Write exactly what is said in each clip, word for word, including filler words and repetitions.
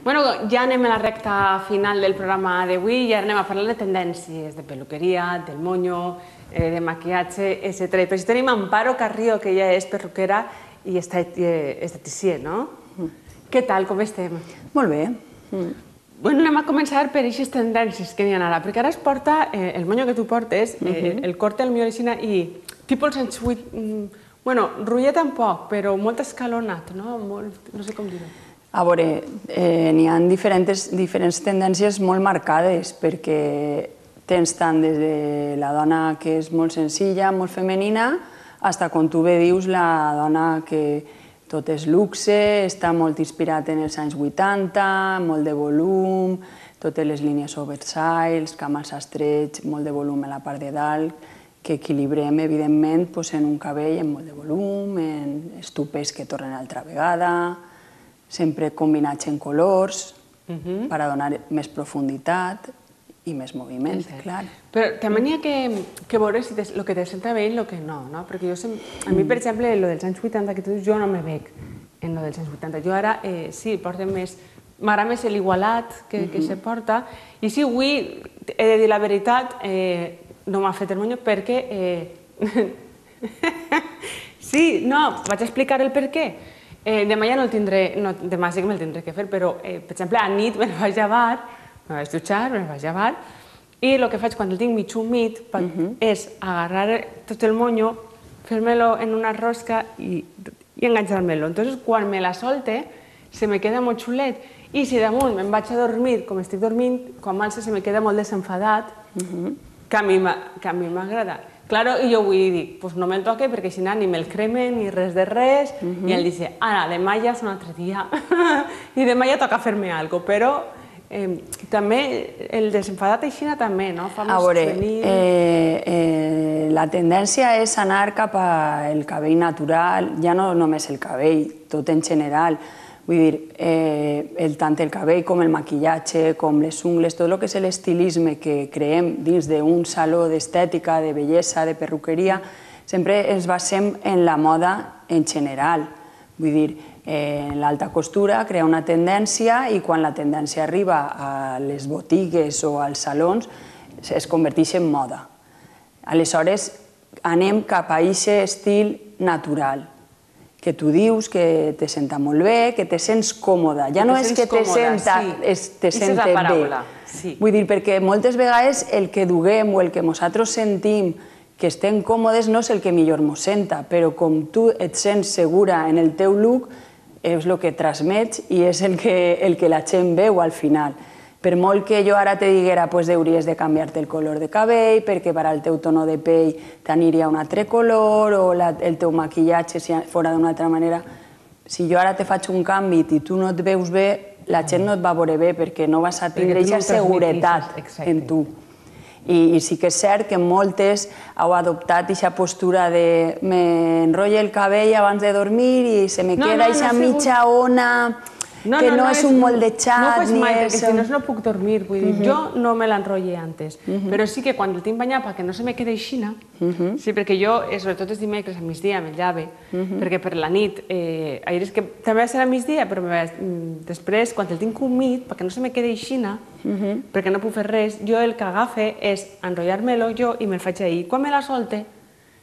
Bueno, ja anem a la recta final del programa d'avui i ara anem a parlar de tendències, de peluqueria, del moño, de maquillatge, etcètera. I per això tenim Amparo Carrillo, que ella és perruquera i esteticista, no? Què tal, com estem? Molt bé. Bueno, anem a començar per aquestes tendències que n'hi ha ara, perquè ara es porta, el moño que tu portes, el corte al millor aixina i tipus el sensuit, bueno, rotllet tampoc, però molt escalonat, no? No sé com dir-ho. A veure, n'hi ha diferents tendències molt marcades, perquè tens tant des de la dona que és molt senzilla, molt femenina, fins a, com tu bé dius, la dona que tot és luxe, està molt inspirat en els anys vuitanta, molt de volum, totes les línies oversize, camals estrets, molt de volum a la part de dalt, que equilibrem, evidentment, en un cabell amb molt de volum, en estupes que tornen altra vegada, sempre combinats en colors, per a donar més profunditat i més moviment, clar. Però també n'hi ha que veure el que te senta bé i el que no, no? Perquè a mi, per exemple, el dels anys vuitanta que tu dius, jo no me veig en el dels anys vuitanta. Jo ara, sí, porto més... M'agrada més l'igualat que se porta. I sí, avui, he de dir la veritat, no m'ha fet el moño perquè... Sí, no, vaig explicar el per què. Demà ja no el tindré, demà sí que me'l tindré que fer, però, per exemple, a nit me vaig llevar, me vaig dutxar, me vaig llevar, i el que faig quan el tinc mig humit és agarrar tot el moño, fer-me-lo en una rosca i enganxar-me-lo. Entonces, quan me la solte, se me queda molt xulet, i si damunt me'n vaig a dormir, com estic dormint, quan m'alça se me queda molt desenfadat, que a mi m'agrada. Claro, i jo vull dir, doncs no me'l toque perquè si no ni me'l cremen ni res de res i ell dice, ara, demà ja és un altre dia i demà ja toca fer-me alguna cosa, però també el desenfadat aixina també, no? A veure, la tendència és anar cap al cabell natural, ja no només el cabell, tot en general. Vull dir, tant el cabell com el maquillatge, com les ungles, tot el que és l'estilisme que creem dins d'un saló d'estètica, de bellesa, de perruqueria, sempre ens basem en la moda en general. Vull dir, l'alta costura crea una tendència i quan la tendència arriba a les botigues o als salons es converteix en moda. Aleshores, anem cap a aquest estil natural, que tu dius que te senta molt bé, que te sents còmoda. Ja no és que te senta bé. Vull dir, perquè moltes vegades el que duguem o el que nosaltres sentim que estem còmodes no és el que millor mos senta, però com tu et sents segura en el teu look, és el que transmets i és el que la gent veu al final. Per molt que jo ara te diguera que hauries de canviar-te el color de cabell perquè per al teu tono de pell t'aniria un altre color o el teu maquillatge si fos d'una altra manera, si jo ara te faig un canvi i tu no et veus bé, la gent no et va veure bé perquè no vas a tindre aquesta seguretat en tu. I sí que és cert que moltes heu adoptat aquesta postura de m'enrotllo el cabell abans de dormir i se me queda aquesta mitja ona... que no és un moldejat... No ho faig mai, perquè si no no puc dormir. Vull dir, jo no me l'enrotlle antes, però sí que quan el tinc banyat perquè no se me queda aixina, sí, perquè jo, sobretot els dimecres a migdia, me'l llave, perquè per la nit, també va ser a migdia, però després, quan el tinc humit, perquè no se me queda aixina, perquè no puc fer res, jo el que agafe és enrotllar-me-lo jo i me'l faig ahir. Quan me la solte,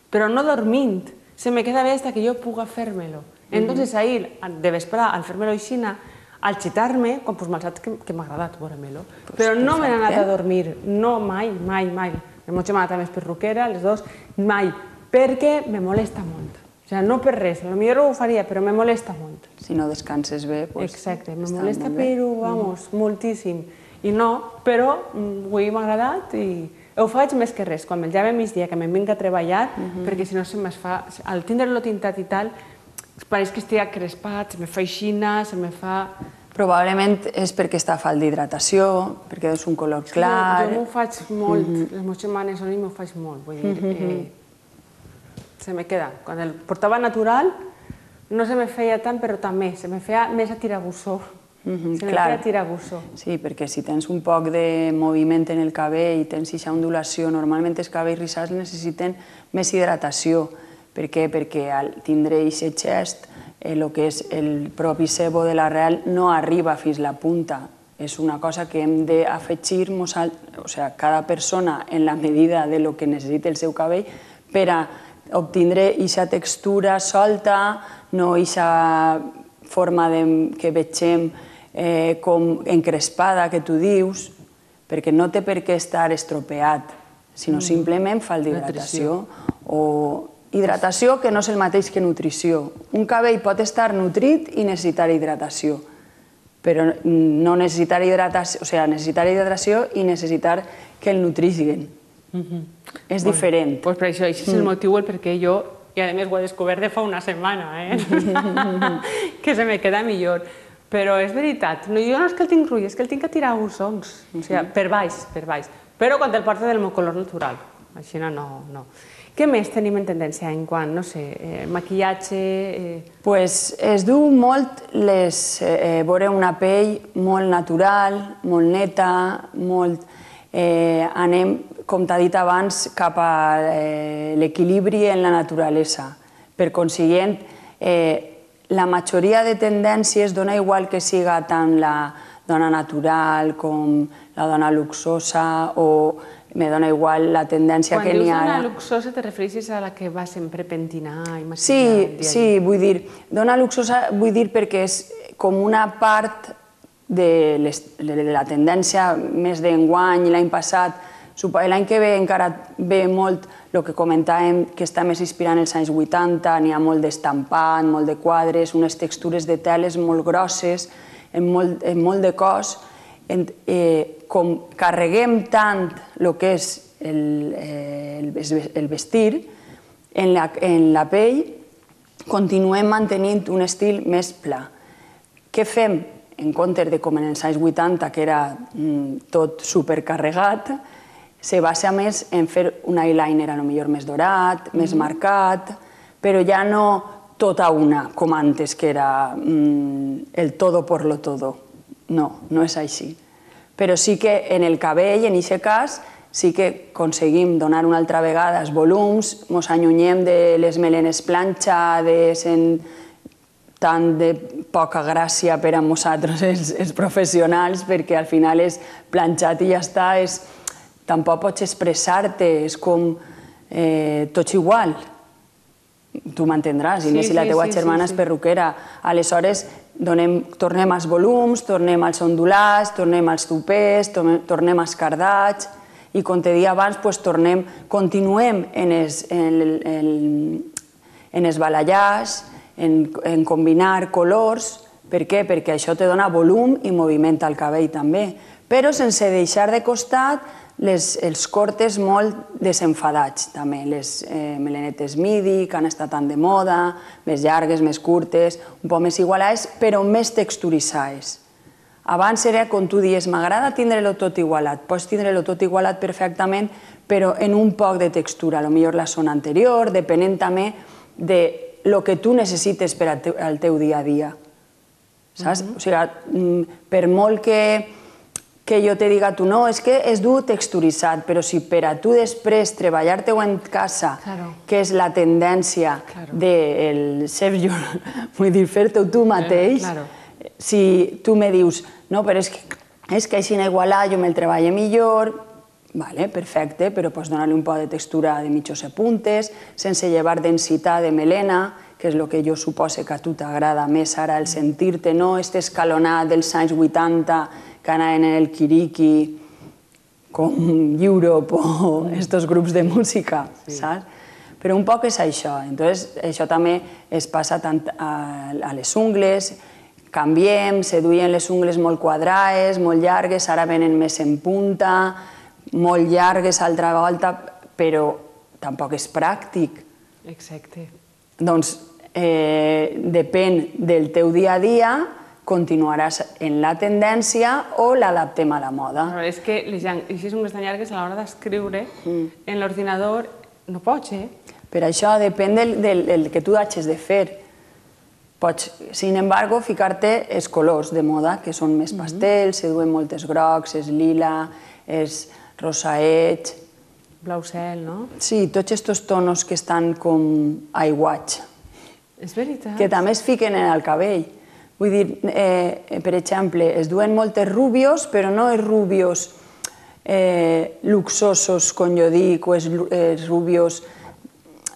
però no dormint, se me queda bé fins que jo puga fer-me-lo. Entonces ahir, de vesprà, al fer-me-lo aixina, al xitar-me, quan m'ha saps que m'ha agradat veure-me-lo. Però no me n'he anat a dormir, no, mai, mai, mai. La meva mare també és perruquera, les dues, mai, perquè me molesta molt. O sigui, no per res, potser ho faria, però me molesta molt. Si no descanses bé, doncs... Exacte, me molesta, però, vamos, moltíssim. I no, però avui m'ha agradat i ho faig més que res. Quan me'l llave a migdia, que me'n vinc a treballar, perquè si no se me'n fa... Al tindre-lo tintat i tal, pareix que estic crespat, se me fa aixina, se me fa... Probablement és perquè està a falta d'hidratació, perquè és un color clar... Jo m'ho faig molt, les meves setmanes on m'ho faig molt, vull dir, se me queda. Quan el portava natural no se me feia tant, però també, se me feia més a tirabussó. Se me feia tirabussó. Sí, perquè si tens un poc de moviment en el cabell i tens aquesta ondulació, normalment els cabells rissats necessiten més hidratació. Per què? Perquè al tindre aquest gest el que és el propi sebo de l'arrel no arriba fins a la punta. És una cosa que hem d'afegir, o sigui, cada persona en la medida de lo que necessita el seu cabell per a obtindre aquesta textura solta, no aquesta forma que vegem com encrespada que tu dius, perquè no té per què estar estropeat, sinó simplement falta hidratació. O hidratació que no és el mateix que nutrició. Un cabell pot estar nutrit i necessitar hidratació, però no necessitar hidratació, o sigui, necessitar hidratació i necessitar que el nutrisguen. És diferent. Doncs per això, això és el motiu el perquè jo, i a més ho he descobert de fa una setmana, que se me queda millor. Però és veritat, jo no és que el tinc rull, és que el tinc que tirar ussons, o sigui, per baix, per baix. Però quan el porto del meu color natural, així no, no. Què més tenim en tendència en quant, no sé, maquillatge? Doncs es du molt veure una pell molt natural, molt neta, molt... Anem, com t'ha dit abans, cap a l'equilibri en la naturalesa. Per consiguient, la majoria de tendències dona igual que siga tant la dona natural com la dona luxosa o me dona igual la tendència que n'hi ha... Quan dius dona luxosa te refereixes a la que va sempre pentinar i maquillar? Sí, sí, vull dir, dona luxosa vull dir perquè és com una part de la tendència més d'enguany i l'any passat. L'any que ve encara ve molt el que comentàvem, que està més inspirant els anys vuitanta, n'hi ha molt d'estampat, molt de quadres, unes textures de teles molt grosses, en molt de cos. Com carreguem tant el que és el vestir, en la pell continuem mantenint un estil més pla. Què fem? En comptes de com en els anys vuitanta, que era tot supercarregat, se basa més en fer un eyeliner a lo millor més dorat, més marcat, però ja no tota una, com antes, que era el todo por lo todo. No, no és així. Però sí que en el cabell, en aquest cas, sí que aconseguim donar una altra vegada els volums, ens allunyem de les melenes planxades, tant de poca gràcia per a nosaltres, els professionals, perquè al final és planxat i ja està, tampoc pots expressar-te, és com tots igual. Tu m'entendràs, i més si la teua germana és perruquera. Aleshores, tornem als volums, tornem als ondulats, tornem als tupers, tornem als cardats, i com te deia abans, continuem en els balayage, en combinar colors. Per què? Perquè això te dona volum i moviment al cabell també, però sense deixar de costat els cortes molt desenfadats també, les melenetes midi, que han estat tan de moda, més llargues, més curtes, un poc més igualades, però més texturitzades. Abans era, com tu dius, m'agrada tindre-lo tot igualat. Pots tindre-lo tot igualat perfectament, però en un poc de textura, potser la zona anterior, depenent també del que tu necessites per al teu dia a dia. Saps? O sigui, per molt que que jo te diga tu no, és que és dur texturitzat, però si per a tu després treballar-te-ho en casa, que és la tendència del ser jo, vull dir, fer-te-ho tu mateix, si tu me dius, no, però és que així igualar jo me'l treballo millor, vale, perfecte, però pots donar-li un poc de textura de mitjos puntes, sense llevar densitat de melena, que és el que jo supose que a tu t'agrada més ara, el sentir-te, no, este escalonat dels anys vuitanta, que anaven en el Kiriki, com Europe o estos grups de música, saps? Però un poc és això. Entonces, això també es passa tant a les ungles, canviem, se duien les ungles molt quadrades, molt llargues, ara venen més en punta, molt llargues altra volta, però tampoc és pràctic. Exacte. Doncs depèn del teu dia a dia, continuaràs en la tendència o l'adaptem a la moda. És que les ungles tan llargues a l'hora d'escriure en l'ordinador no pots, eh? Per això depèn del que tu hagis de fer. Pots, sin embargo, ficar-te els colors de moda, que són més pastels, se duen moltes grocs, és lila, és rosaet... Blau cel, no? Sí, tots aquests tonos que estan com aiguats. És veritat. Que també es fiquen en el cabell. Vull dir, eh, per exemple, es duen moltes rubios, però no els rubios eh, luxosos, com jo dic, o els, els rubios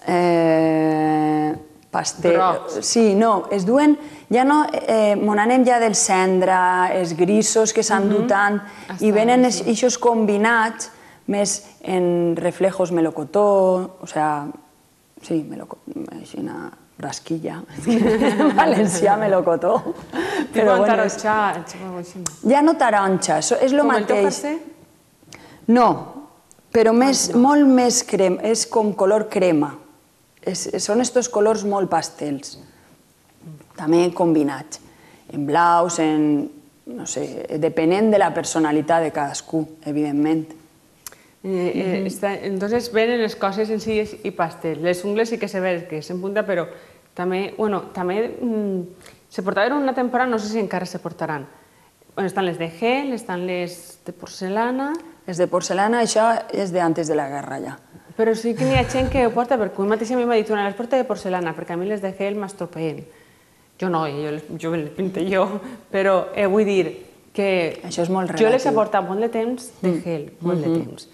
eh, pastel... Grocs. Sí, no, es duen... Ja no, eh, mon anem ja del cendra, els grisos que s'han dut tant, i venen aquests combinats més en reflejos melocotó, o sea, sí, melocotó, així una rasquilla, en valencià melocotó. Però bueno, taronxa, ja no taronxa, és el com mateix. Com el teu farcer? No, però més, molt més crema, és com color crema. És, són estos colors molt pastels, també combinats, en blaus, en, no sé, depenent de la personalitat de cadascú, evidentment. Eh, eh, está, entonces venen les coses senzilles i pastels. Les ungles sí que se ve que és en punta, però també, bueno, també mm, se portaven una temporada, no sé si encara se portaran. Bueno, estan les de gel, estan les de porcelana... Les de porcelana, això és d'antes de la guerra ja. Però sí que n'hi ha gent que ho porta, perquè un mateix a mi m'ha dit una, les porta de porcelana, perquè a mi les de gel m'estropeen. Jo no, jo, jo les pinto jo, però eh, vull dir que això és molt relatiu. Jo les he portat molt de temps de gel, molt de temps,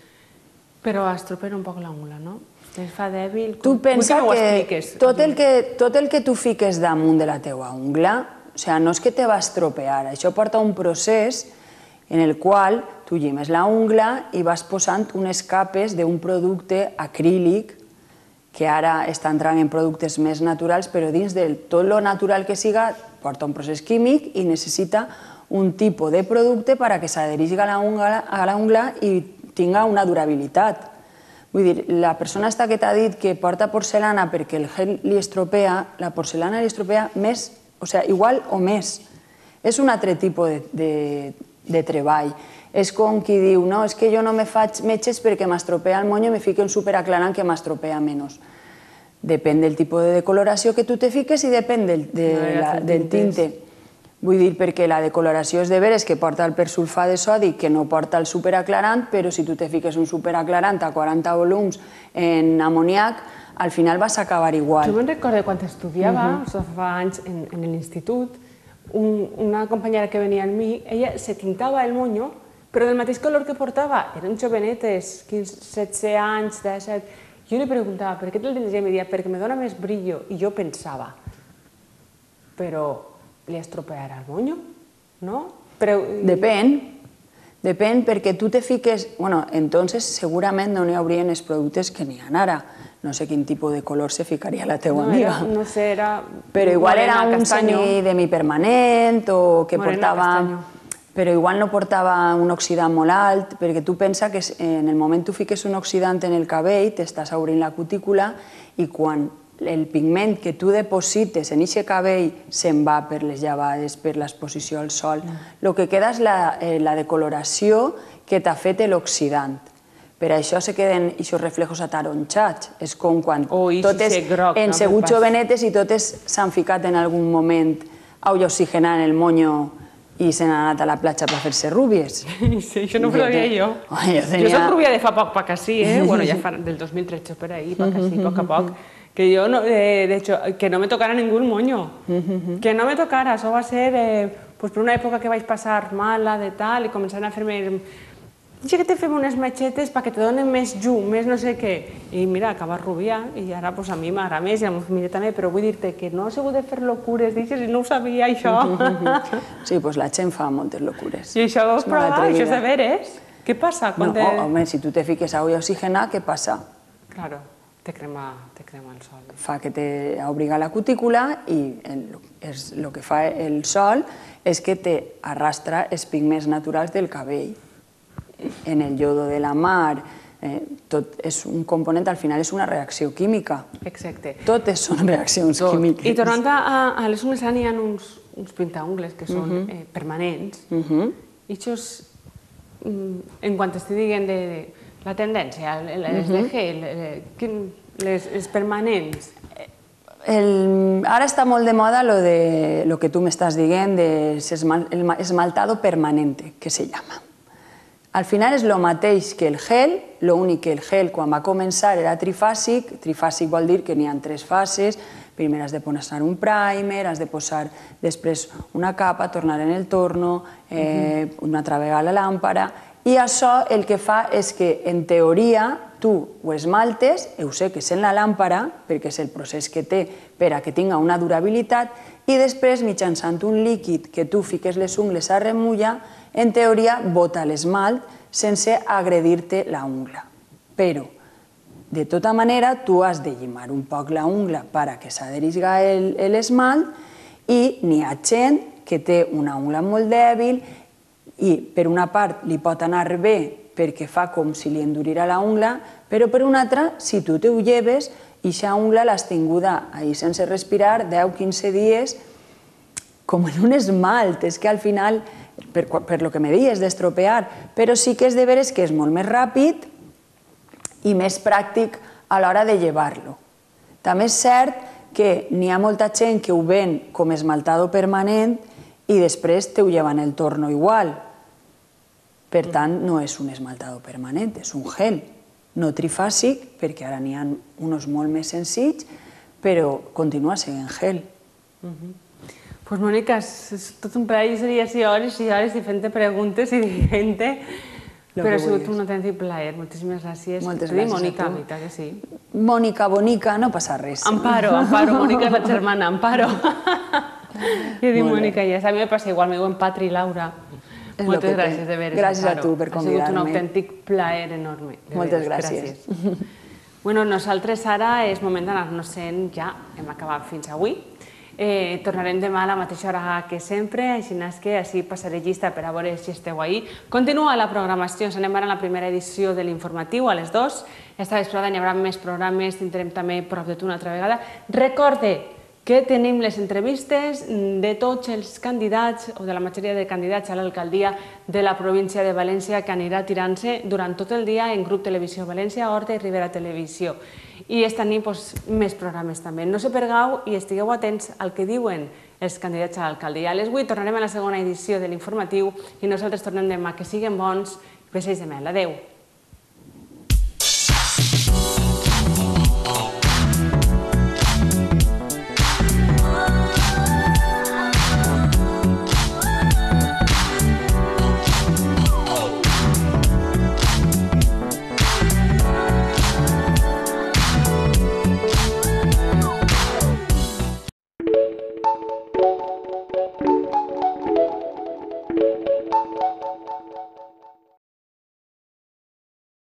però estropeen un poc l'ungla, no? Es fa dèbil. Tu pensa que tot el que, tot el que tu fiques damunt de la teua ungla, o sigui, no és que te va estropear, això porta un procés en el qual tu llimes la ungla i vas posant unes capes d'un producte acrílic que ara està entrant en productes més naturals, però dins de tot lo natural que siga porta un procés químic i necessita un tipus de producte perquè s'adhereixi a la ungla, a la ungla i tinga una durabilitat. Vull dir, la persona esta que t'ha dit que porta porcelana perquè el gel li estropea, la porcelana li estropea més, o sigui, igual o més. És un altre tipus de, de, de treball. És com qui diu, no, és que jo no me faig metges perquè m'estropea el monyo i me fico un superaclarant que m'estropea menys. Depèn del tipus de decoloració que tu te fiques i depèn del, de la, del tinte. Vull dir, perquè la decoloració és de veres que porta el persulfat de sodi que no porta el superaclarant, però si tu te fiques un superaclarant a quaranta volums en amoniac, al final vas acabar igual. Jo me'n recordo quan estudiava, uh -huh. fa anys en, en l'institut, un, una companyera que venia amb mi, ella se tintava el monyo, però del mateix color que portava. Eren jovenetes, quinze, setze anys, disset. Jo li preguntava, per què te'l tens? I em deia, perquè me dona més brillo. I jo pensava, però li estropearà el monyo, no? Però... Depèn. Depèn perquè tu te fiques... Bueno, entonces segurament no n'hi haurien els productes que n'hi ha ara. No sé quin tipus de color se ficaria la teua amiga. No sé, era... Però igual era un semipermanent o que portava... Però igual no portava un oxidant molt alt, perquè tu pensa que en el moment tu fiques un oxidant en el cabell, t'estàs obrint la cutícula i quan el pigment que tu deposites en aquest cabell se'n va per les llevades, per l'exposició al sol, el que queda és la, eh, la decoloració que t'ha fet l'oxidant. Per això se queden aquests reflejos ataronxats. És com quan oh, totes han sigut jovenetes i totes s'han ficat en algun moment aigua oxigenant el monyo i se n'han anat a la platja per fer-se rúbies. Sí, això no ho sabia jo. Jo soc rúbia de fa poc, pa que sí, eh? Bueno, ja fa del dos mil tretze per ahí, pa que sí, poc a poc. Que yo, no, eh, de hecho, que no me tocara ningún moño. Que no me tocara, això va ser eh, pues per una època que vaig passar mala, de tal, i començaven a fer-me... Dice que te fem unes matxetes perquè te donen més llum, més no sé què. I mira, acaba rubia, i ara pues, a mi m'agrada més, i a la meva família també, però vull dir-te que no he sigut de fer locures, dices, i no ho sabia, això. Sí, doncs la gent fa moltes locures. I això ho vas provar, això és de veres? Què passa? No, home, si tu te fiques aigua oxigenada, què passa? Claro, te crema el sol. Fa que te obriga la cutícula i el que fa el sol és que te arrastra els pigments naturals del cabell. En el yodo de la mar, tot és un component, al final és una reacció química. Exacte. Totes són reaccions químiques. I tornant a les ungles, n'hi ha uns pintaungles que són permanents. I això, en quant estic dient de la tendència, les de gel, les permanents... Ara està molt de moda el que tu m'estàs dient, el esmaltado permanente, que se llama. Al final és el mateix que el gel, l'únic que el gel quan va començar era trifàsic, trifàsic vol dir que n'hi ha tres fases, Primer has de posar un primer, has de posar després una capa, tornar en el torno, una altra vegada la làmpara, i això el que fa és que, en teoria, tu ho esmaltes, ho seques en la làmpara, perquè és el procés que té per a que tinga una durabilitat, i després, mitjançant un líquid que tu fiques les ungles a remullar, en teoria bota l'esmalt sense agredir-te la ungla. Però, de tota manera, tu has de llimar un poc la ungla perquè s'adherisga l'esmalt, i n'hi ha gent que té una ungla molt dèbil i, per una part, li pot anar bé perquè fa com si li endurirà la ungla, però per una altra, si tu te ho lleves, eixa ungla l'has tinguda ahí sense respirar deu a quinze dies com en un esmalt. És que al final, per lo que me deies d'estropear, però sí que és de veres que és molt més ràpid i més pràctic a l'hora de llevar-lo. També és cert que n'hi ha molta gent que ho ven com esmaltado permanent i després te ho lleva en el torno igual. Per tant, no és un esmaltado permanent, és un gel. No trifàsic, perquè ara n'hi ha uns molt més senzills, però continua sent gel. Pues Mónica, és tot un plaer, seria així hores i hores diferents preguntes i diferents, però ha sigut un autèntic plaer. Moltíssimes gràcies. Moltes gràcies a tu. Mónica, Mónica, que sí. Mónica, bonica, no passa res. Amparo, Amparo, Mónica és la germana, Amparo. Jo dic Mónica, ja a mi me passa igual, m'ho diuen Patri i Laura. Moltes gràcies, de veres, Amparo. Gràcies a tu per convidar-me. Ha sigut un autèntic plaer enorme. Moltes gràcies. Bueno, nosaltres ara és moment d'anar-nos-en ja, hem acabat fins avui. Tornarem demà a la mateixa hora que sempre, així que així passaré llista per a veure si esteu ahí. Continua la programació, ens anem ara a la primera edició de l'informatiu, a les dues. Esta vesprada n'hi haurà més programes, tindrem també Prop de tu una altra vegada. Recorde que tenim les entrevistes de tots els candidats o de la majoria de candidats a l'alcaldia de la província de València que anirà tirant-se durant tot el dia en Grup Televisió València, Horta i Ribera Televisió. I esta nit més programes també. No se pergau i estigueu atents al que diuen els candidats a l'alcaldia. A les vuit tornarem a la segona edició de l'informatiu i nosaltres tornem demà. Que siguen bons. Besets de mel. Adéu.